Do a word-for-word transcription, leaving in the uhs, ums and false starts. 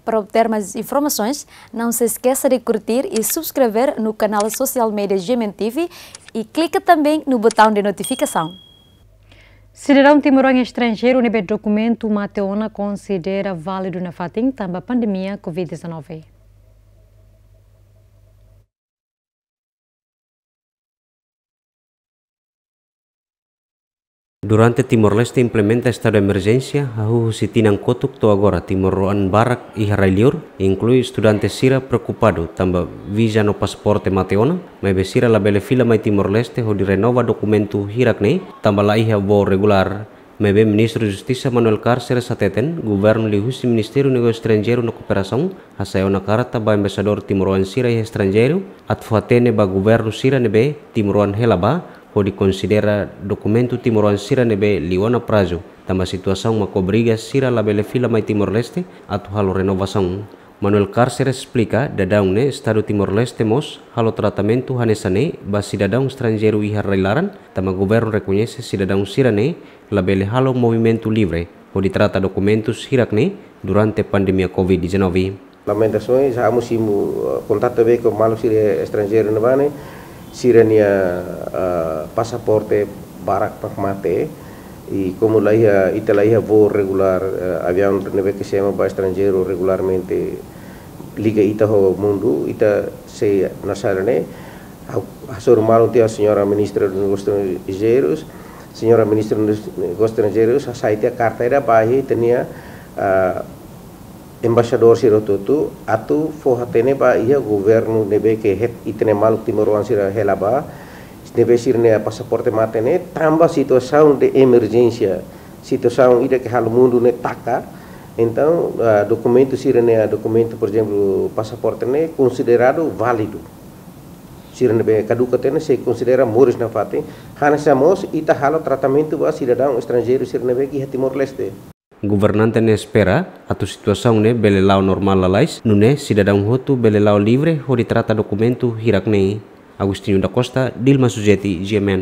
Para obter mais informações, não se esqueça de curtir e subscrever no canal social media G M N T V e clica também no botão de notificação. Sidadaun timoroan estranjeiru ne'ebé dokumentu mate ona konsidera válidu nafatin tanba pandemia covid dezanove. Durante Timor-Leste implementa estadu emerjénsia, hahú husi tinan kotuk to'o agora, timoroan barak iha rai-liur, inklui estudante sira preokupadu tanba viza no pasaporte mate ona, maibé sira labele fila mai Timor-Leste hodi renova dokumentu hirak-ne'e, tanba laiha voo regulár. Maibé Ministru Justisa Manuel Cárceres hateten, governu liuhusi Ministériu Negósiu Estranjeiru no Kooperasaun hasai ona karta ba embaixadór timoroan sira iha estranjeiru, atu fó hatene ba governu sira ne'ebé timoroan hela ba, hodi konsidera dokumentu timoroan sira ne'ebé liu ona prazu, tanba situasaun mak obriga sira labele fila mai Timor-Leste atu halo renovasaun. Manuel Cárceres esplika, daudaun ne'e estadu Timor-Leste mós halo tratamentu hanesan ne'e ba sidadaun estranjeiru iha rai-laran, tanba governu rekoñese sidadaun sira-ne'e labele halo movimentu livre hodi trata dokumentus hirak-ne'e durante pandemia covid dezanove. Lamentações, ha'u mós simu, eh, kontaktu be ho maluk sira estranjeiru ne'ebá ne'e, sira-nia, eh, pasaporte barak mak mate, i komu laiha, ita laiha voo regulár, eh, aviaun ne'ebé ke semo ba estranjeiru regularmente liga ita ho mundu, ita sei nasar ne'e, ha'u, ha'u hasoru malu tiha Señora Ministra dos Negósius Estranjeirus, Señora Ministra dos Negósius Estranjeirus, hasai tiha karta ida ba iha ita-nia, ah, embaixadór sira hotu-hotu, atu fó hatene ba iha governu ne'ebé ke het ita-nia maluk timoroan sira hela ba, ne'ebé sira-nia pasaporte mate ne'e, tanba situasaun de emerjénsia, situasaun ida ke halo mundu ne'e taka, entaun, ah, dokumentu sira-nia, dokumentu, por ezemplu, pasaporte ne'e konsideradu válidu. Sira ne'ebé kaduka tiha ne'e sei konsidera moris nafatin, hanesan mós ita halo tratamentu ba sidadaun estranjeiru sira ne'ebé ke iha Timor-Leste. Governante ne'e espera atu situasaun ne'e bele la'o normál lalais, nune'e sidadaun hotu bele la'o livre hodi trata dokumentu hirak-ne'e. Agostinho da Costa, Dilma Suzeti, G M N.